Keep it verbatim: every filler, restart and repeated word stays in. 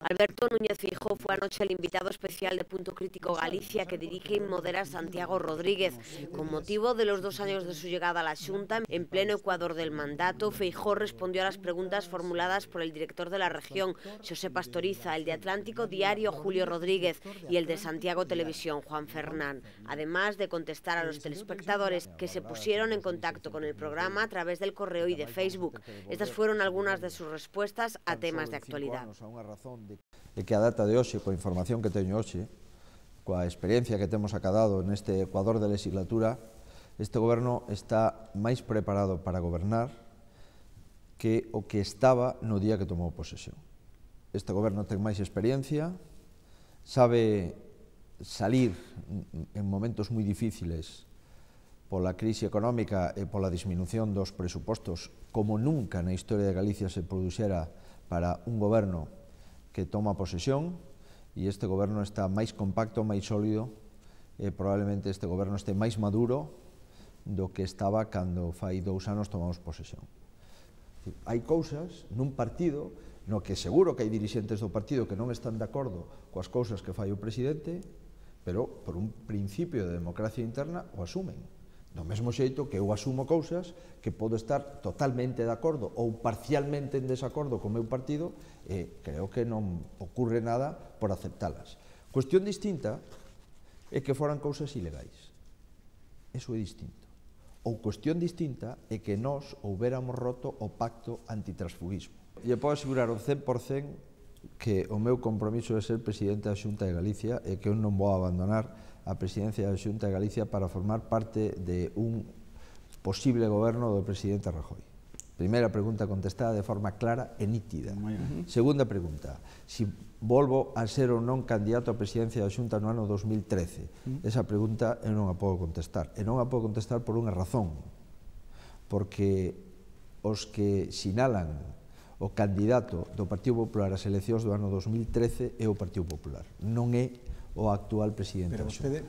Alberto Núñez Feijóo fue anoche el invitado especial de Punto Crítico Galicia que dirige y modera Santiago Rodríguez. Con motivo de los dos años de su llegada a la Xunta, en pleno ecuador del mandato, Feijóo respondió a las preguntas formuladas por el director de la región, Xosé Pastoriza, el de Atlántico Diario, Julio Rodríguez, y el de Santiago Televisión, Juan Fernán, además de contestar a los telespectadores que se pusieron en contacto con el programa a través del correo y de Facebook. Estas fueron algunas de sus respuestas a temas de actualidad. E que a data de hoxe, coa información que teño hoxe, coa experiencia que temos acadado neste ecuador de legislatura, este goberno está máis preparado para gobernar que o que estaba no día que tomou posesión. Este goberno ten máis experiencia, sabe salir en momentos moi difíciles pola crise económica e pola disminución dos presupostos como nunca na historia de Galicia se produxera para un goberno que toma posesión, e este goberno está máis compacto, máis sólido, e probablemente este goberno este máis maduro do que estaba cando fai dous anos tomamos posesión. Hai cousas nun partido no que seguro que hai dirixentes do partido que non están de acordo coas cousas que fai o presidente, pero por un principio de democracia interna o asumen. Do mesmo xeito que eu asumo cousas que podo estar totalmente de acordo ou parcialmente en desacordo co meu partido e creo que non ocurre nada por aceptalas. Cuestión distinta é que foran cousas ilegais. Eso é distinto. Ou cuestión distinta é que nós houbéramos roto o pacto antitransfugismo. E podo asegurar o cen por cen que o meu compromiso é ser presidente da Xunta de Galicia e que eu non vou abandonar a presidencia da Xunta de Galicia para formar parte de un posible goberno do presidente Rajoy. Primeira pregunta contestada de forma clara e nítida. Segunda pregunta, si volvo a ser ou non candidato á presidencia da Xunta no ano dos mil trece. Esa pregunta eu non a podo contestar. E non a podo contestar por unha razón. Porque os que sinalan o candidato do Partido Popular ás eleccións do ano dos mil trece é o Partido Popular. Non é o actual presidente da Xunta.